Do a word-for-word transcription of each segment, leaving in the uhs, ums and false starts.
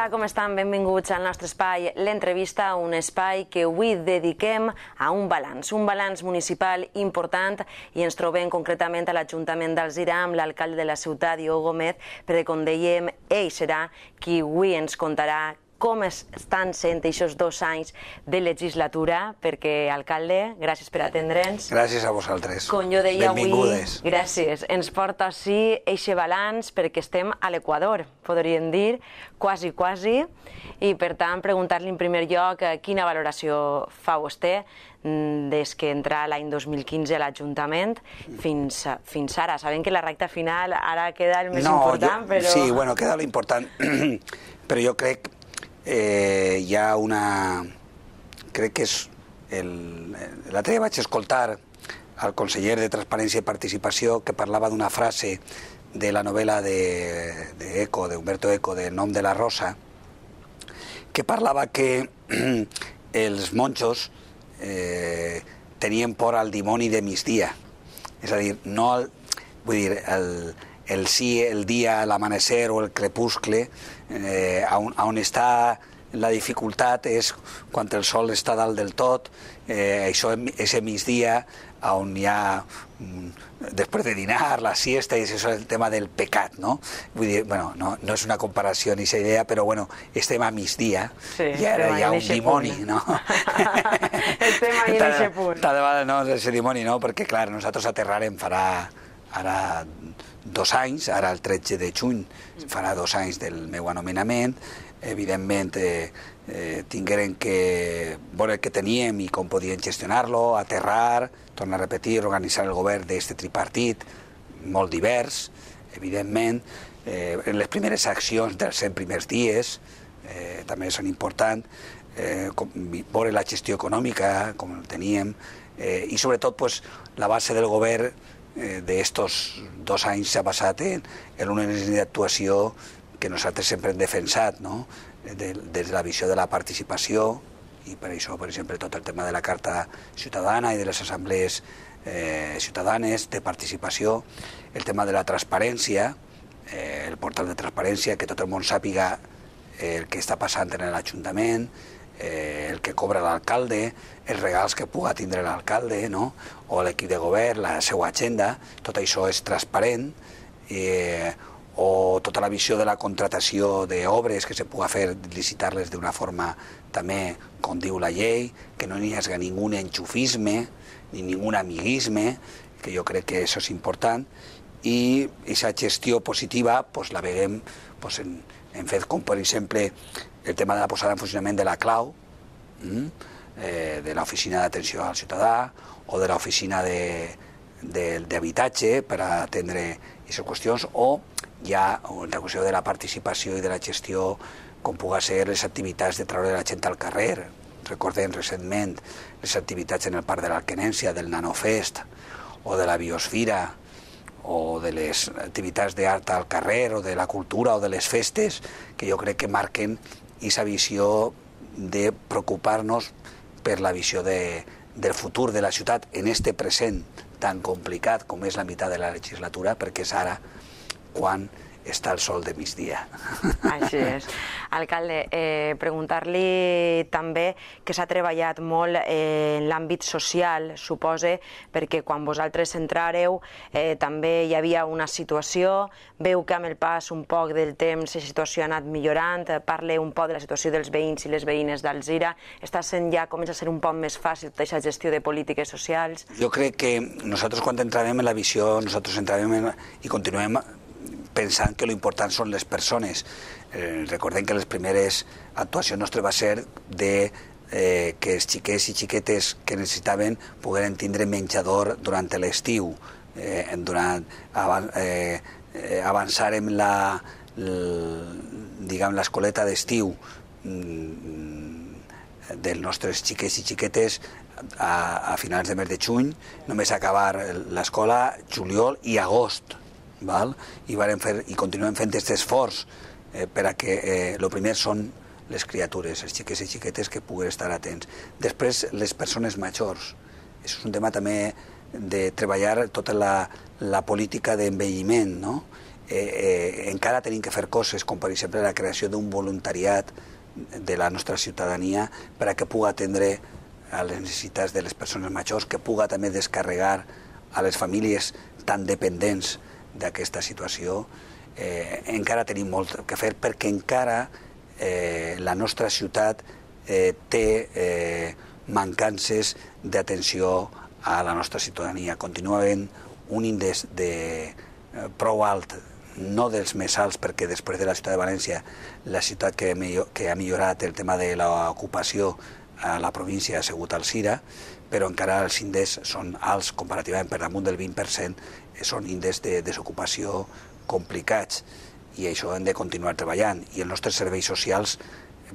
Hola, com estan? Benvinguts al nostre espai L'Entrevista, un espai que avui dediquem a un balanç, un balanç municipal important, i ens trobem concretament a l'Ajuntament d'Alzira amb l'alcalde de la ciutat, Diogo Gómez, perquè, com dèiem, ell serà qui avui ens contarà com estan sent aquests dos anys de legislatura, perquè, alcalde, gràcies per atendre'ns. Gràcies a vosaltres. Com jo deia avui, benvingudes. Gràcies. Ens porta així eixe balanç perquè estem a l'Equador, podríem dir, quasi, quasi, i per tant preguntar-li en primer lloc quina valoració fa vostè des que entra l'any dos mil quinze a l'Ajuntament fins, fins ara. Sabem que la recta final ara queda el més no, important, jo, però... Sí, bueno, queda l'important, però jo crec eh, hi ha una... Crec que és... El... L'altre dia vaig escoltar al conseller de Transparència i Participació que parlava d'una frase de la novel·la de, de Eco, d'Humberto Eco, del Nom de la Rosa, que parlava que els monjos eh, tenien por al dimoni de migdia. És a dir, no el, vull dir, el, el sí, el dia, l'amanecer o el crepuscle, eh, on, on està la dificultat és quan el sol està dalt del tot, eh, això és el migdia, on hi ha, després de dinar, la siesta, i això és el tema del pecat, no? Vull dir, bueno, no, no és una comparació ni aquesta idea, però bueno, estem a migdia, sí, i ara hi ha un dimoni, punt. No? Estem ahí en aquest punt. Cada vegada no és el dimoni, no? Perquè, clar, nosaltres aterrarem farà ara dos anys, ara el tretze de juny farà dos anys del meu anomenament. Evidentment, eh, eh, tingueren que veure què teníem i com podien gestionar-lo, aterrar, tornar a repetir, organitzar el govern d'aquest tripartit, molt divers, evidentment. Eh, les primeres accions dels cent primers dies eh, també són importants, eh, com, veure la gestió econòmica, com el teníem, eh, i sobretot pues, la base del govern eh, d'estos dos anys s'ha basat en, en una línia d'actuació que nosaltres sempre hem defensat, no? Des de la visió de la participació, i per això, per exemple, tot el tema de la Carta Ciutadana i de les assemblees eh, ciutadanes de participació, el tema de la transparència, eh, el portal de transparència, que tot el món sàpiga eh, el que està passant en l'Ajuntament, eh, el que cobra l'alcalde, els regals que puga tindre l'alcalde, no? O l'equip de govern, la seva agenda, tot això és transparent, eh, o tota la visió de la contratació d'obres que se pugui fer, licitar-les d'una forma també, com diu la llei, que no hi hagi ningú enxufisme ni ningú amiguisme, que jo crec que això és important, i aquesta gestió positiva pues, la veiem pues, en, en fet com, per exemple, el tema de la posada en funcionament de la clau, mm? eh, de l'oficina d'atenció al ciutadà o de l'oficina d'habitatge per a atendre aquestes qüestions, o hi ha la qüestió de la participació i de la gestió, com pugui ser les activitats de treure la gent al carrer. Recordem recentment les activitats en el Parc de l'Arquenència, del Nanofest, o de la Biosfera, o de les activitats d'art al carrer, o de la cultura, o de les festes, que jo crec que marquen aquesta visió de preocupar-nos per la visió de, del futur de la ciutat en este present tan complicat com és la meitat de la legislatura, perquè és ara quan està el sol de migdia. Així és. Alcalde, eh, preguntar-li també que s'ha treballat molt eh, en l'àmbit social, supose, perquè quan vosaltres entrareu eh, també hi havia una situació, veu que amb el pas un poc del temps la situació ha anat millorant, parle un poc de la situació dels veïns i les veïnes d'Alzira, està sent ja, comença a ser un poc més fàcil tota aquesta gestió de polítiques socials? Jo crec que nosaltres quan entrarem en la visió, nosaltres entrarem en, i continuem pensant que l'important són les persones. Eh, recordem que les primeres actuacions nostres va ser de eh, que els xiquets i xiquetes que necessitaven pogueren tindre menjador durant l'estiu, eh, durant avan, eh, avançar en la, diguem, l'escoleta d'estiu dels nostres xiquets i xiquetes a, a finals de mes de juny, només acabar l'escola juliol i agost. Val? I, fer, i continuem fent aquest esforç eh, per a que el eh, primer són les criatures, els xiquets i xiquetes que puguen estar atents. Després, les persones majors. Això és un tema també de treballar tota la, la política d'envelliment, no? eh, eh, encara tenim que fer coses, com per exemple la creació d'un voluntariat de la nostra ciutadania per a que pugui atendre a les necessitats de les persones majors, que pugui també descarregar a les famílies tan dependents d'aquesta situació. Eh, encara tenim molt que fer perquè encara eh, la nostra ciutat eh, té eh, mancances d'atenció a la nostra ciutadania. Continua havent un índex de, eh, prou alt, no dels més alts, perquè després de la ciutat de València, la ciutat que, millor, que ha millorat el tema de l'ocupació a la província ha sigut Alzira, però encara els índexs són alts comparativament, per damunt del vint per cent, són índexs de desocupació complicats, i això hem de continuar treballant. I els nostres serveis socials,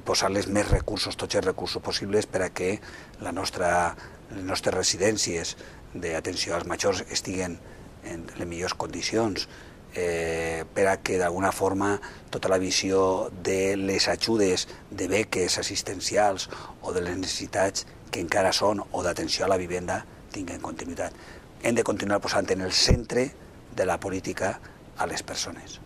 posar-les més recursos, tots els recursos possibles, per a que la nostra, les nostres residències d'atenció als majors estiguen en les millors condicions, eh, per a que d'alguna forma tota la visió de les ajudes de beques assistencials o de les necessitats que encara són o d'atenció a la vivenda tinguen continuïtat. Hem de continuar posant en el centre de la política a les persones.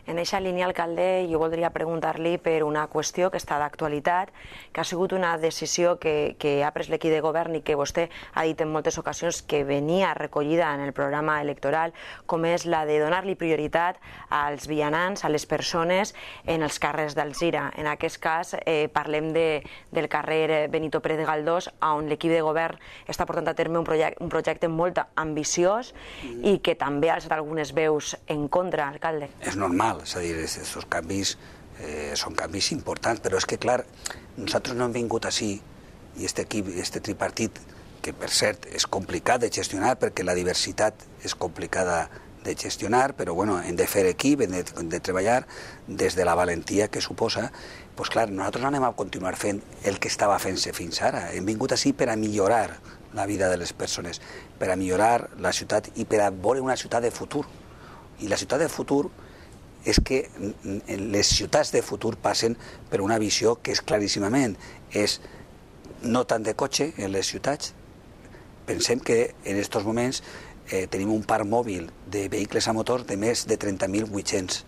En aquesta línia, alcalde, jo voldria preguntar-li per una qüestió que està d'actualitat, que ha sigut una decisió que, que ha pres l'equip de govern i que vostè ha dit en moltes ocasions que venia recollida en el programa electoral, com és la de donar-li prioritat als vianants, a les persones en els carrers d'Alzira. En aquest cas, eh, parlem de, del carrer Benito Pérez de Galdós, on l'equip de govern està portant a terme un projecte, un projecte molt ambiciós i que també ha alçat algunes veus en contra, alcalde. És normal. És a dir, aquests canvis eh, són canvis importants, però és que, clar, nosaltres no hem vingut així, i aquest equip, aquest tripartit, que per cert és complicat de gestionar, perquè la diversitat és complicada de gestionar, però bueno, hem de fer equip, hem de, hem de treballar des de la valentia que suposa. Doncs clar, nosaltres no anem a continuar fent el que estava fent-se fins ara. Hem vingut així per a millorar la vida de les persones, per a millorar la ciutat i per a veure una ciutat de futur. I la ciutat de futur és que les ciutats de futur passen per una visió que és claríssimament, és no tant de cotxe en les ciutats. Pensem que en aquests moments eh, tenim un parc mòbil de vehicles a motor de més de trenta mil vuit-cents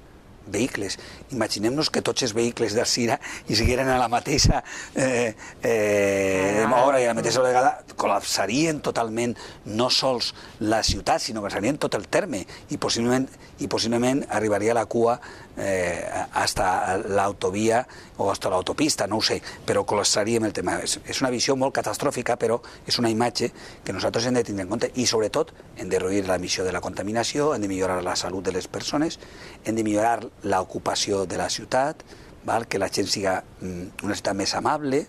vehicles. Imaginem-nos que tots els vehicles d'Alzira hi sigueren a la mateixa eh, eh, hora i a la mateixa vegada, col·lapsarien totalment no sols la ciutat, sinó que serien tot el terme i possiblement, i possiblement arribaria a la cua eh, hasta l'autovia o hasta l'autopista, no ho sé, però col·lapsaríem el tema. És, és una visió molt catastròfica, però és una imatge que nosaltres hem de tindre en compte i sobretot hem de reduir l'emissió de la contaminació, hem de millorar la salut de les persones, hem de millorar l'ocupació de la ciutat, val? Que la gent siga una ciutat més amable,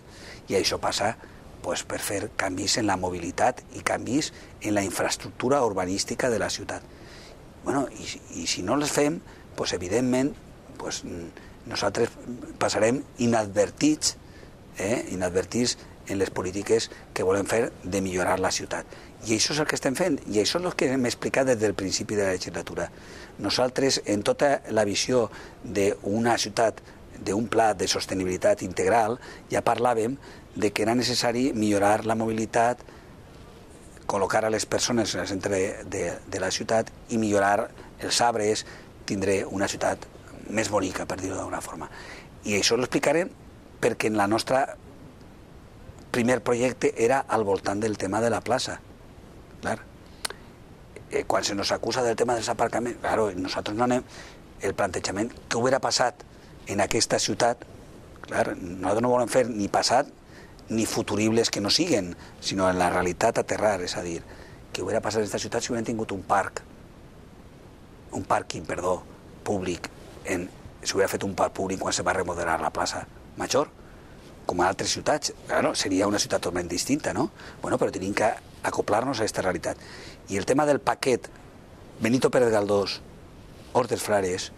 i això passa pues, per fer canvis en la mobilitat i canvis en la infraestructura urbanística de la ciutat. Bueno, i, i si no les fem, pues, evidentment pues, nosaltres passarem inadvertits, eh, inadvertits en les polítiques que volem fer de millorar la ciutat. I això és el que estem fent, i això és el que hem explicat des del principi de la legislatura. Nosaltres, en tota la visió d'una ciutat, d'un pla de sostenibilitat integral, ja parlàvem de que era necessari millorar la mobilitat, col·locar a les persones en el centre de, de la ciutat i millorar els arbres, tindré una ciutat més bonica, per dir-ho d'alguna forma. I això ho explicarem perquè en la nostra primer projecte era al voltant del tema de la plaça. Clar. Eh, quan se nos acusa del tema dels aparcaments, claro, nosaltres no anem... El plantejament que hubiera passat en aquesta ciutat, clar, nosaltres no volem fer ni passat ni futuribles que no siguen, sinó en la realitat aterrar, és a dir, que hubiera passat en aquesta ciutat si hubieran tingut un parc, un pàrquing, perdó, públic, en, si hubiera fet un parc públic quan se va remodelar la plaça Major, com a altres ciutats, claro, seria una ciutat totalment distinta, no? Bueno, però tenim que acoplar-nos a aquesta realitat. I el tema del paquet Benito Pérez Galdós, Hort dels Frares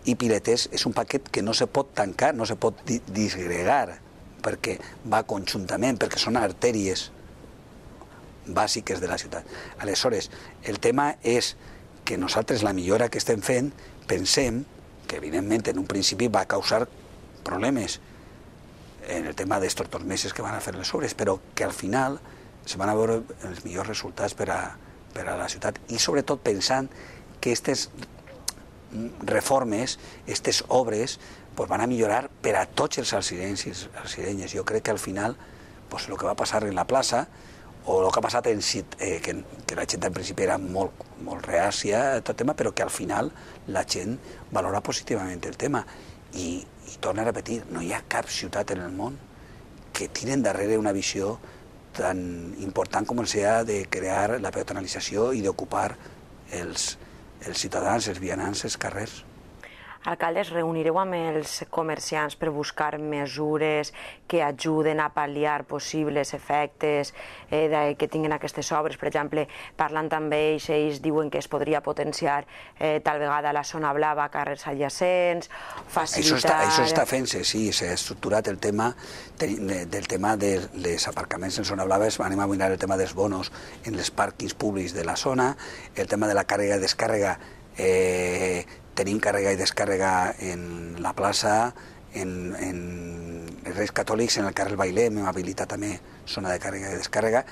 i Piletes és un paquet que no se pot tancar, no se pot disgregar, perquè va conjuntament, perquè són artèries bàsiques de la ciutat. Aleshores, el tema és que nosaltres la millora que estem fent pensem que evidentment en un principi va causar problemes en el tema d'estos dos mesos que van a fer les obres, però que al final se van a veure els millors resultats per a, per a la ciutat i sobretot pensant que aquestes reformes, aquestes obres, pues van a millorar per a tots els alcirenys. Jo crec que al final pues, el que va passar en la plaça o el que ha passat en eh, que, que la gent en principi era molt, molt reàcia a tot tema, però que al final la gent valora positivament el tema. I, i torno a repetir, no hi ha cap ciutat en el món que tiren darrere una visió tan important com sea de crear la peatonalització i d'ocupar els, els ciutadans, els vianants, els carrers. Alcalde, es reunireu amb els comerciants per buscar mesures que ajuden a pal·liar possibles efectes eh, que tinguin aquestes obres? Per exemple, parlant amb ells, ells diuen que es podria potenciar eh, tal vegada la zona blava, carrers adjacents, facilitar... Això està, això està fent-se, sí, s'ha estructurat el tema del tema dels aparcaments en zona blava, anem a mirar el tema dels bonos en els pàrquings públics de la zona, el tema de la càrrega i descàrrega, eh, tenim càrrega i descàrrega en la plaça, en, en els Reis Catòlics, en el carrer Bailer, hem habilitat també zona de càrrega i descàrrega,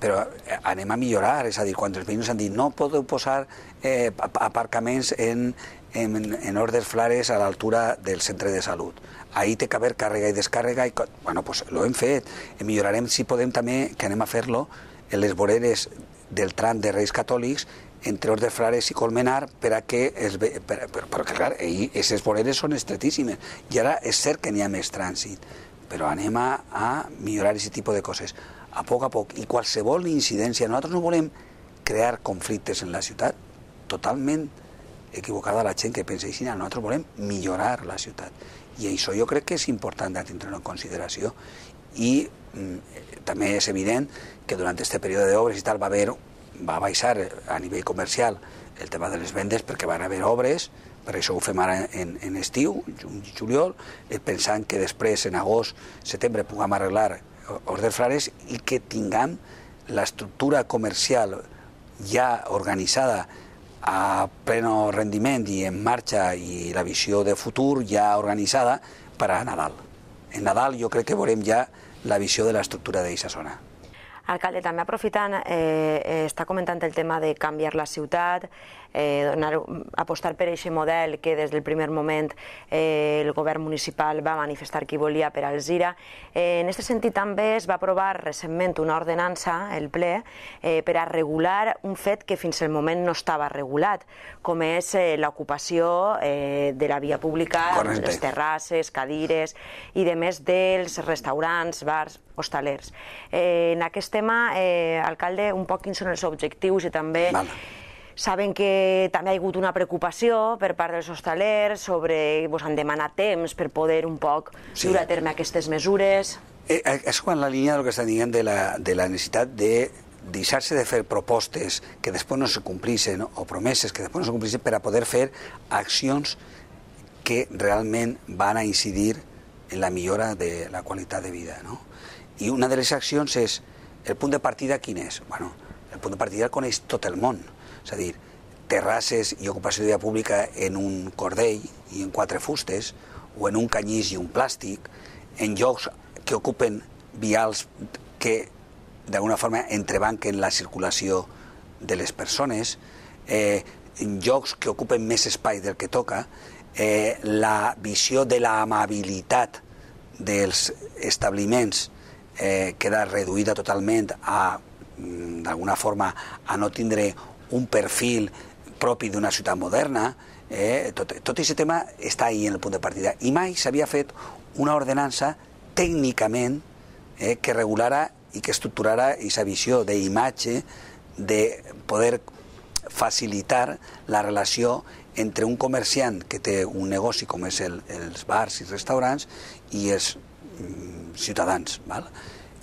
però anem a millorar, és a dir, quan els veïns han dit no podeu posar eh, aparcaments en, en, en Hordes Flares a l'altura del centre de salut. Ahí té que haver càrrega i descàrrega, i, bueno, pues lo hem fet, millorarem si podem també, que anem a fer-lo, en les voreres del tram de Reis Catòlics, entre Hordes Flares i Colmenar, per a que... Es ve, per, per, perquè, clar, aquestes voreres són estretíssimes, i ara és cert que n'hi ha més trànsit, però anem a, a millorar aquest tipus de coses, a poc a poc, i qualsevol incidència. Nosaltres no volem crear conflictes en la ciutat, totalment equivocada la gent que pensa així, nosaltres volem millorar la ciutat, i això jo crec que és important de tindre-ho en consideració, i mm, també és evident que durant aquest període d'obres i tal va haver va baixar a nivell comercial el tema de les vendes perquè van haver obres, per això ho fem ara en, en estiu, juny i juliol, pensant que després en agost, setembre puguem arreglar Hordes Flares i que tinguem l'estructura comercial ja organitzada a pleno rendiment i en marxa i la visió de futur ja organitzada per a Nadal. En Nadal jo crec que veurem ja la visió de l'estructura d'aquesta zona. Alcalde, també aprofitant, eh, està comentant el tema de canviar la ciutat, eh, donar, apostar per aquest model que des del primer moment eh, el govern municipal va manifestar que volia per Alzira. Eh, en aquest sentit també es va aprovar recentment una ordenança, el ple, eh, per a regular un fet que fins al moment no estava regulat, com és eh, l'ocupació eh, de la via pública, Correcte. Les terrasses, cadires i de més dels restaurants, bars, hostalers. Eh, en aquest tema, eh, alcalde, un poc quins són els objectius i també Val. saben que també hi ha hagut una preocupació per part dels hostalers sobre, vos han demanat temps per poder un poc Sí. dur a terme aquestes mesures. Eh, és en la línia del que estan dient de la, de la necessitat de deixar-se de fer propostes que després no se complixen o promeses que després no se complixen per a poder fer accions que realment van a incidir en la millora de la qualitat de vida, no? I una de les accions és, el punt de partida quin és? Bueno, el punt de partida el coneix tot el món, és a dir, terrasses i ocupació de via pública en un cordell i en quatre fustes, o en un canyís i un plàstic, en llocs que ocupen vials que d'alguna forma entrebanquen la circulació de les persones, eh, en llocs que ocupen més espai del que toca, eh, la visió de l'amabilitat dels establiments eh, queda reduïda totalment a, d'alguna forma, a no tindre un perfil propi d'una ciutat moderna. Eh, tot, tot aquest tema està ahí en el punt de partida. I mai s'havia fet una ordenança tècnicament eh, que regulara i que estructurara aquesta visió d'imatge, de poder facilitar la relació entre un comerciant que té un negoci com és el, els bars i restaurants i els mm, ciutadans. Val?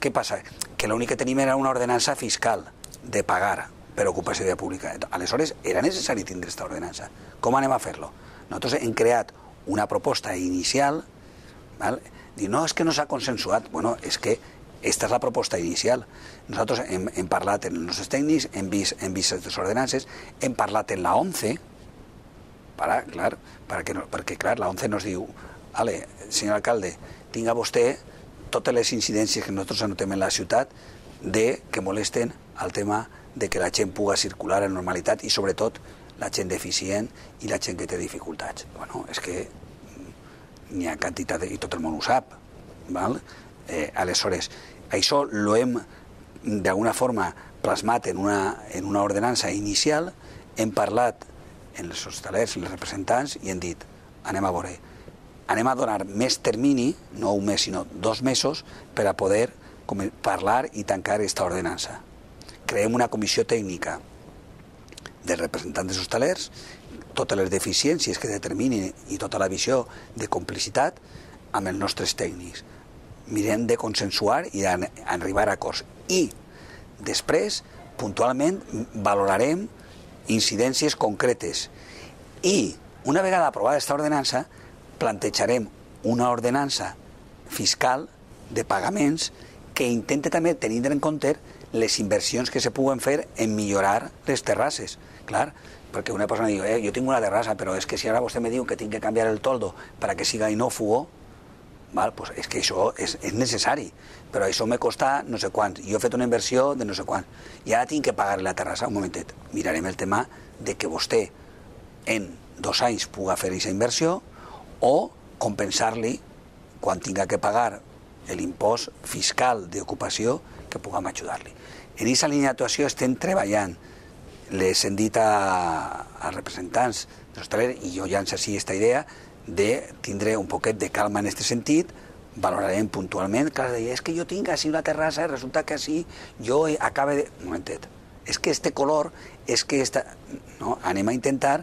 Què passa? Que l'únic que tenim era una ordenança fiscal de pagar per ocupació de via pública. Aleshores, era necessari tindre aquesta ordenança. Com anem a fer-lo? Nosaltres hem creat una proposta inicial, val? Dir, no, és que no s'ha consensuat. Bueno, és que aquesta és la proposta inicial. Nosaltres hem, hem parlat amb els nostres tècnics, hem vist, hem vist aquestes ordenances, hem parlat en la ONCE, para, clar, perquè, no, perquè clar, la ONCE nos diu, ale, senyor alcalde, tinga vostè totes les incidències que nosaltres anotem en la ciutat de que molesten al tema de que la gent puga circular en normalitat i sobretot la gent deficient i la gent que té dificultats. Bueno, és que n'hi ha quantitat, i tot el món ho sap. Val? Eh, aleshores, això ho hem d'alguna forma plasmat en una, en una ordenança inicial, hem parlat en els hostalers, els representants, i hem dit, anem a veure, anem a donar més termini, no un mes, sinó dos mesos, per a poder parlar i tancar aquesta ordenança. Creem una comissió tècnica dels representants dels hostalers, totes les deficiències que determinin i tota la visió de complicitat amb els nostres tècnics. Mirem de consensuar i d'arribar a acords. I després, puntualment, valorarem incidències concretes. I, una vegada aprovada aquesta ordenança, plantejarem una ordenança fiscal de pagaments que intente també tenir en compte les inversions que se puguen fer en millorar les terrasses. Clar, perquè una persona diu, eh, jo tinc una terrassa, però és que si ara vostè me diu que tinc que canviar el toldo para que siga inófugo, val, pues és que això és, és necessari, però això me costa no sé quants, jo he fet una inversió de no sé quants, i ara tinc que pagar la terrassa. Un momentet, mirarem el tema de que vostè en dos anys puga fer aquesta inversió o compensar-li quan tinga que pagar l'impost fiscal d'ocupació que puguem ajudar-li. En aquesta línia d'actuació estem treballant. Les hem dit a, als representants dels hostalers, i jo llanço així aquesta idea, de tindre un poquet de calma en aquest sentit, valorarem puntualment. Clar, és que jo tinc així una terrassa i resulta que així jo acabe de... Un momentet, és que este color, és que esta... No, anem a intentar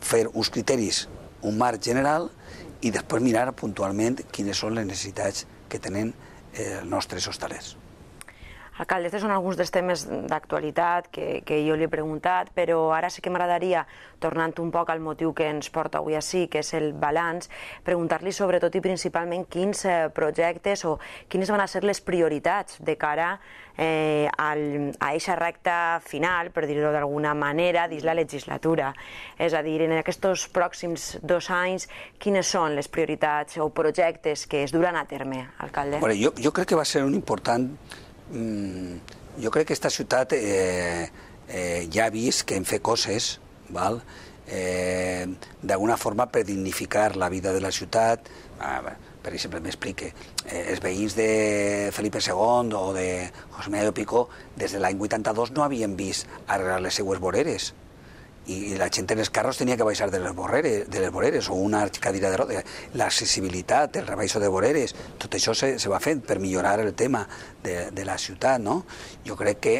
fer uns criteris, un marc general, i després mirar puntualment quines són les necessitats que tenen els nostres hostalers. Alcalde, aquests són alguns dels temes d'actualitat que, que jo li he preguntat, però ara sí que m'agradaria, tornant un poc al motiu que ens porta avui ací, que és el balanç, preguntar-li sobretot i principalment quins eh, projectes o quines van a ser les prioritats de cara eh, al, a aquesta recta final, per dir-ho d'alguna manera, dins la legislatura. És a dir, en aquests pròxims dos anys, quines són les prioritats o projectes que es duran a terme, alcalde? Bueno, jo, jo crec que va ser un important... Jo crec que aquesta ciutat eh, eh, ja ha vist que hem fet coses, val? Eh, d'alguna forma per dignificar la vida de la ciutat. Ah, per exemple, m'explique, eh, els veïns de Felipe segon o de José María Picó des de l'any vuitanta-dos no havien vist arreglar les seues voreres, i la gent en els carros tenia que baixar de les voreres, de les voreres o una cadira de rodes. L'accessibilitat, el rebaixo de voreres, tot això se, se va fent per millorar el tema de, de la ciutat, no? Jo crec que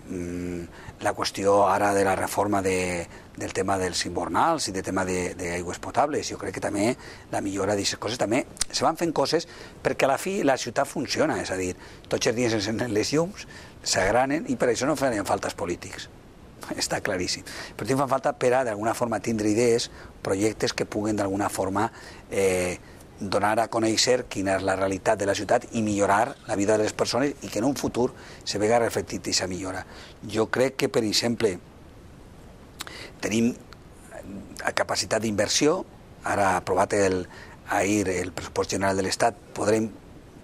mmm, la qüestió ara de la reforma de, del tema dels invernals i del tema d'aigües potables, jo crec que també la millora d'aquestes coses, també se van fent coses perquè a la fi la ciutat funciona, és a dir, tots els dies s'encenen les llums, s'agranen, i per això no farien faltes polítics. Està claríssim. Però fa falta per a, d'alguna forma, tindre idees, projectes que puguen, d'alguna forma, eh, donar a conèixer quina és la realitat de la ciutat i millorar la vida de les persones i que en un futur se vega reflectit aquesta millora. Jo crec que, per exemple, tenim capacitat d'inversió. Ara, aprovat el, ahir el pressupost general de l'Estat, podrem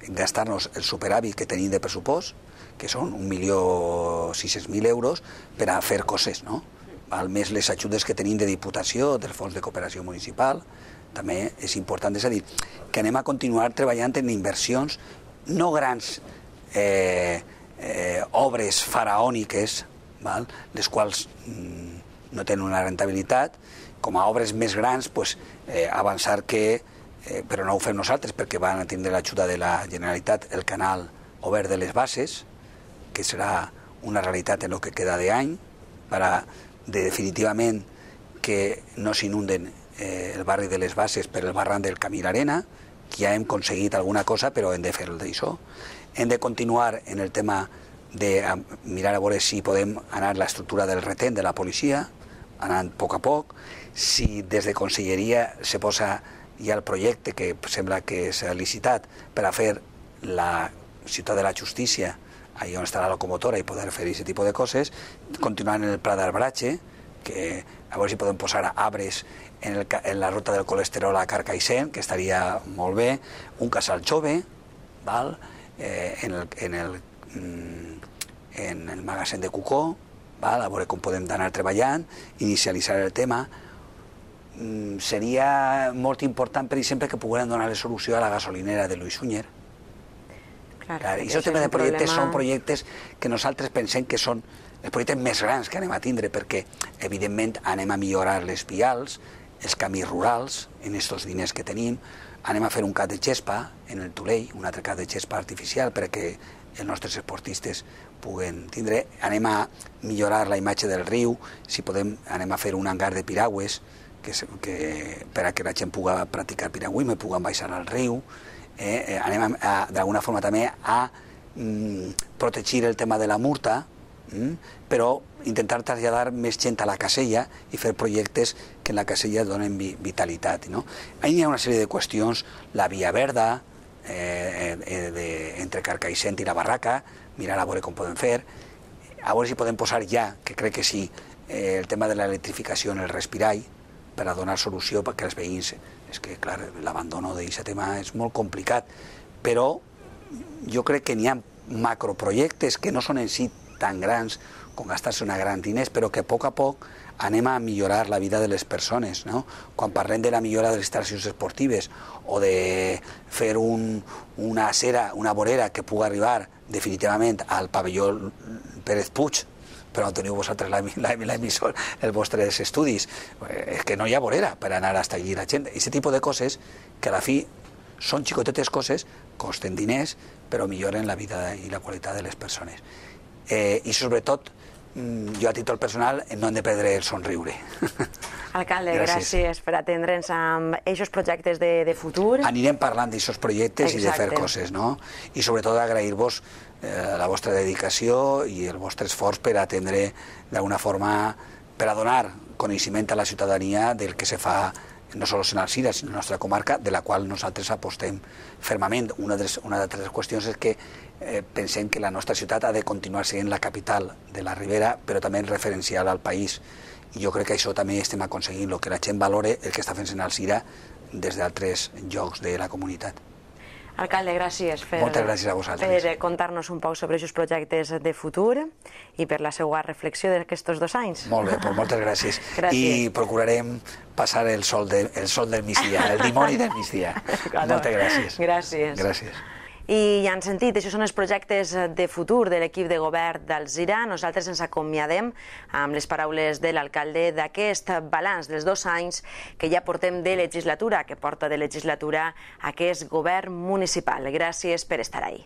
gastar-nos el superàvit que tenim de pressupost, que són un milió sis-cents mil euros, per a fer coses, no? Al més les ajudes que tenim de Diputació, del Fons de Cooperació Municipal, també és important. És a dir, que anem a continuar treballant en inversions, no grans eh, eh, obres faraòniques, val? Les quals mm, no tenen una rentabilitat, com a obres més grans, pues, eh, avançar que, eh, però no ho fem nosaltres, perquè van a tindre l'ajuda de la Generalitat, el canal obert de les bases, que serà una realitat en el que queda d'any, per a de, definitivament que no s'inunden eh, el barri de les Bases per el barranc del Camí l'Arena, que ja hem aconseguit alguna cosa, però hem de fer d'això. Hem de continuar en el tema de mirar a veure si podem anar a l'estructura del retén de la policia, anant a poc a poc. Si des de Conselleria se posa ja el projecte que sembla que s'ha licitat per a fer la ciutat de la justícia, allà on està la locomotora, i poder fer aquest tipus de coses, continuant en el Pla d'Arbratge, que a veure si podem posar arbres en, el, en la ruta del colesterol a Carcaixent, que estaria molt bé, un casal jove, val? Eh, en, el, en, el, en el magatzem de Cucó, val? A veure com podem anar treballant, inicialitzar el tema. Mm, seria molt important, per exemple, que poguem donar la solució a la gasolinera de Luis Sunyer. Clar, Clar, I això aquests tipus de projectes problema... són projectes que nosaltres pensem que són els projectes més grans que anem a tindre, perquè, evidentment, anem a millorar les vials, els camins rurals, en aquests diners que tenim, anem a fer un cap de gespa en el Tulell, un altre cap de gespa artificial perquè els nostres esportistes puguen tindre, anem a millorar la imatge del riu, si podem anem a fer un hangar de piragües que, que, per a que la gent pugui practicar piragüisme, puguen baixar al riu, eh, anem d'alguna forma també a mm, protegir el tema de la murta, mm, però intentar traslladar més gent a la casella i fer projectes que en la casella donen vi vitalitat. No? Hi ha una sèrie de qüestions, la via verda, eh, eh, de, entre Carcaixent i la Barraca, mirar a veure com podem fer, a veure si podem posar ja, que crec que sí, eh, el tema de l'electrificació en el respirall, per a donar solució perquè els veïns... És que, clar, l'abandono d'aquest tema és molt complicat, però jo crec que n'hi ha macroprojectes que no són en si tan grans com gastar-se una gran diners, però que a poc a poc anem a millorar la vida de les persones. No? Quan parlem de la millora de les instal·lacions esportives o de fer un, una acera, una vorera que pugui arribar definitivament al pavelló Pérez Puig, però no teniu vosaltres l'emissor, els vostres estudis, és que no hi ha vorera per anar a allí la gent. Aquest tipus de coses que a la fi són xicotetes coses, costen diners, però milloren la vida i la qualitat de les persones. Eh, I sobretot, jo a títol personal no hem de perdre el somriure. Alcalde, gràcies, gràcies per atendre'ns amb aquests projectes de, de futur. Anirem parlant d'aquests projectes Exacte. I de fer coses, no? I sobretot agrair-vos eh, la vostra dedicació i el vostre esforç per atendre d'alguna forma, per a donar coneixement a la ciutadania del que se fa no sols en Alzira, sinó en la nostra comarca, de la qual nosaltres apostem fermament. Una de les, una de les qüestions és que eh, pensem que la nostra ciutat ha de continuar sent la capital de la Ribera, però també referencial al país. I jo crec que això també estem aconseguint, el que la gent valore el que està fent en Alzira des d'altres llocs de la comunitat. Alcalde, gràcies per, Moltes gràcies a vosaltres. per contar-nos un poc sobre aquests projectes de futur i per la seva reflexió d'aquests dos anys. Molt bé, doncs moltes gràcies. gràcies. I procurarem passar el sol, de, el sol del migdia, el dimoni del migdia. Claro. Moltes gràcies. Gràcies. Gràcies. I ja han sentit, això són els projectes de futur de l'equip de govern d'Alzira. Nosaltres ens acomiadem amb les paraules de l'alcalde d'aquest balanç dels dos anys que ja portem de legislatura, que porta de legislatura aquest govern municipal. Gràcies per estar ahí.